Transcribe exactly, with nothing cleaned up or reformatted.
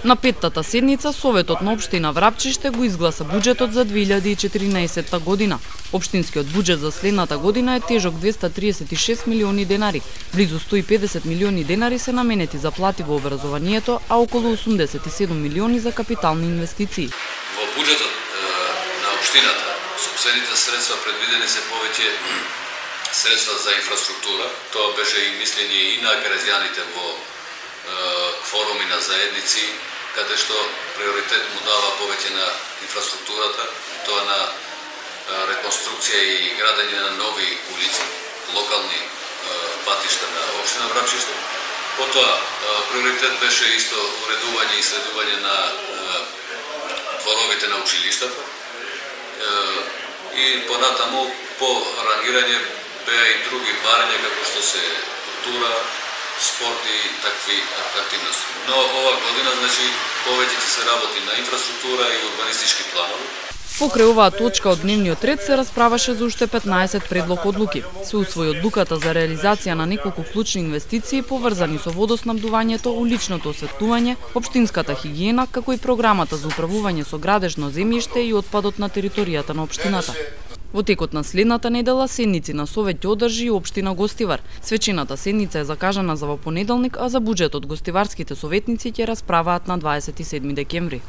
На петтата седница Советот на општина Врапчиште го изгласа буџетот за две илјади и четиринаесетта година. Општинскиот буџет за следната година е тежок двеста триесет и шест милиони денари. Близу сто и педесет милиони денари се наменети за плати во образованието, а околу осумдесет и седум милиони за капитални инвестиции. Во буџетот на општината сопствените средства предвидени се повеќе средства за инфраструктура. Тоа беше и мислење и на граѓаните во форуми на заедници, каде што приоритет му дава повеќе на инфраструктурата, тоа на реконструкција и градење на нови улици, локални патишта на општина Врапчиште. Потоа приоритет беше исто уредување и следување на дворовите на училиштата и понатаму по рангирање беа и други барања како што се култура, спорт и такви активности. Но ова година, значи, повеќе ќе се работи на инфраструктура и урбанистички планови. Покрај оваа точка од дневниот ред се расправаше за уште петнаесет предлог одлуки. Се усвои одлуката за реализација на неколку клучни инвестиции поврзани со водоснабдувањето, уличното осветлување, општинската хигиена, како и програмата за управување со градежно земјиште и отпадот на територијата на општината. Во текот на следната недела седници на Совет ќе одржи и општина Гостивар. Свечената седница е закажана за во понеделник, а за буџетот гостиварските советници ќе расправаат на дваесет и седми декември.